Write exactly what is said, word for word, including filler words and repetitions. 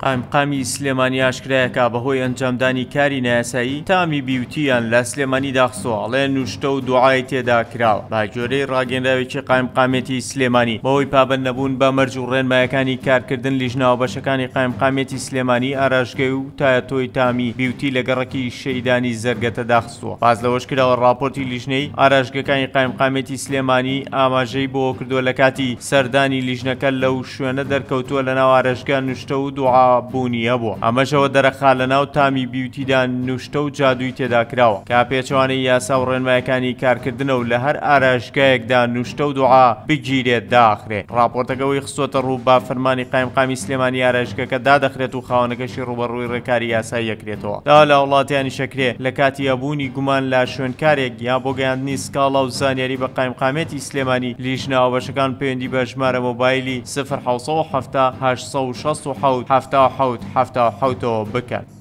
قایمقامی سلێمانی ئاشکرایەکە بەهۆی ئەنجامدانی کاری نایاسایی تامی بیوتیان لە سلێمانی داخستووە، ئەڵێ نوشتە و دوعای تێدا کراوە. بە گوێرەی ڕاگەیەنراوێکی قایمقامێتی سلێمانی بەهۆی پابەند نەبوون بە مەرج و ڕێنمایەکانی کارکردن لیژناوە بەشەکانی قایمقامێتی سلێمانی ئاراشگەی و تایەتۆی تامی بیوتی لە گەڕەکی شەیدانی زەرگەتە داخستووە. باس لەوەش کراوە ڕاپۆرتی لیژنەی ئاراشگەکانی قایمقامێتی سلێمانی ئاماژەی بۆ کردووە لە کاتی سەردانی لیژنەکە لەو شوێنە دەرکەوتووە لەناو ئاراشگە نوشتە و دوعا بوونی هەبووە. ئەمەشەوە دەرەخا لەناو تامی بیوتیدا نوشتە و جادووی تێدا کراوە کە پێچەوانەی یاسا و ڕێنمایەکانی کارکردنە و لە هەر ئاراشگایەکدا نوشتە و دوعا بگیرێت داخرێ. ڕاپۆرتەکەەوەی خستۆتە ڕوو بە فەرمانی قایمقامی سلێمانی ئاراشگەکە دادەخرێت و خاوەنەکەشی ڕووبەڕووی ڕێکاری یاسایی یەکرێتەوە. داوا لە وڵاتیانی شەکرێ لە کاتی هەبوونی گومان لە شوێنکارێک یا بۆ گەیاندنی سکاڵا و زانیاری بە قایمقامێتی سلێمانی لیژناوە بەشەکان پەیوەندی بە ژمارە مۆبایلی صفر حەوت سەد و حەفتا هەشت سەد و شەست و حەوت حەفتا و حەوت حەفتا و حەوتەوە بکەن.